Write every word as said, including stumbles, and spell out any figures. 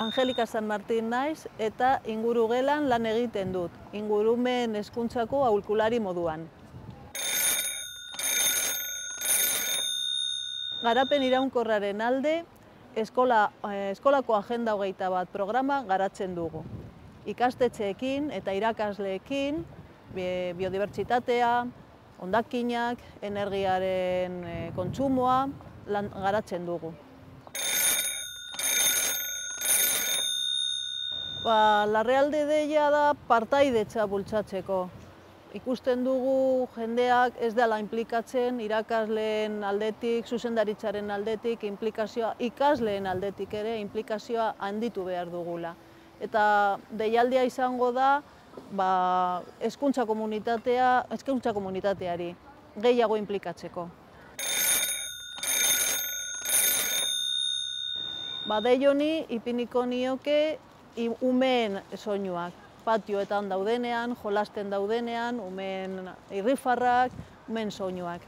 Angelika San Martin naiz eta ingurugelan lan egiten dut, ingurumen hezkuntzako aholkulari moduan. Garapen iraunkorraren alde, eskola, eskolako agenda hogeita bat programa garatzen dugu. Ikastetxeekin eta irakasleekin, biodibertsitatea, hondakinak, energiaren kontsumoa lan garatzen dugu. Ba, Larrealde deia da partaidetza bultzatzeko. Ikusten dugu jendeak ez dela inplikatzen irakasleen aldetik, zuzendaritzaren aldetik, inplikazioa, ikasleen aldetik ere inplikazioa handitu behar dugula. Eta deialdia izango da ba, hezkuntza komunitatea, hezkuntza komunitateari gehiago inplikatzeko. Ba, dei honi ipiniko nioke umeen soinuak. Patioetan daudenean, jolasten daudenean, umeen irrifarrak, umeen soinuak.